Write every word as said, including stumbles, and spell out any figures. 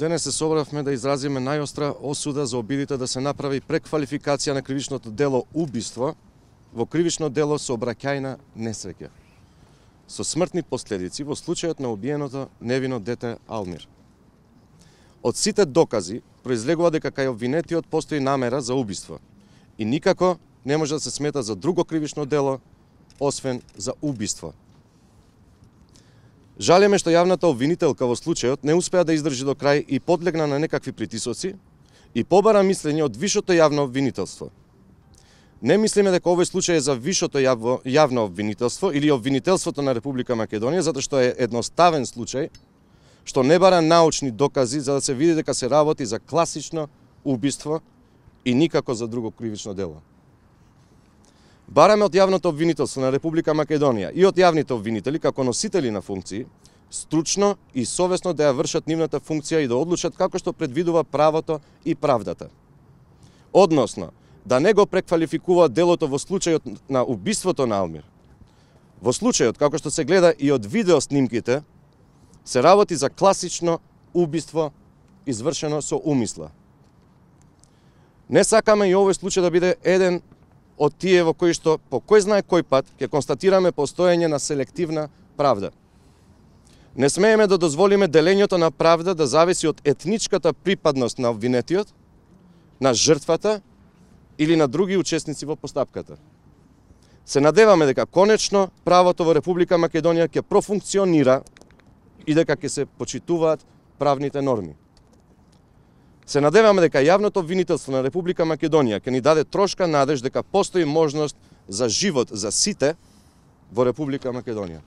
Денес се собравме да изразиме најостра осуда за обидите да се направи преквалификација на кривичното дело убиство во кривично дело сообраќајна несреќа, со смртни последици во случајот на убиеното невино дете Алмир. Од сите докази произлегува дека кај обвинетиот постои намера за убиство и никако не може да се смета за друго кривично дело, освен за убиство. Жалеме што јавната обвинителка во случајот не успеа да издржи до крај и подлегна на некакви притисоци и побара мислење од висшото јавно обвинителство. Не мислиме дека овој случај е за висшото јавно, јавно обвинителство или обвинителството на Република Македонија, затоа што е едноставен случај, што не бара научни докази за да се види дека се работи за класично убиство и никако за друго кривично дело. Бараме од јавното обвинителство на Република Македонија и од јавните обвинители како носители на функции, стручно и совесно да ја вршат нивната функција и да одлучат како што предвидува правото и правдата. Односно, да не го преквалификуваат делото во случајот на убиството на Алмир. Во случајот, како што се гледа и од видео снимките, се работи за класично убиство извршено со умисла. Не сакаме и овој случај да биде еден од тие во кои што по кој знае кој пат ќе констатираме постоење на селективна правда. Не смееме да дозволиме делењето на правда да зависи од етничката припадност на обвинетиот, на жртвата или на други учесници во постапката. Се надеваме дека конечно правото во Република Македонија ќе профункционира и дека ќе се почитуваат правните норми. Се надеваме дека јавното обвинителство на Република Македонија ќе ни даде трошка надеж дека постои можност за живот за сите во Република Македонија.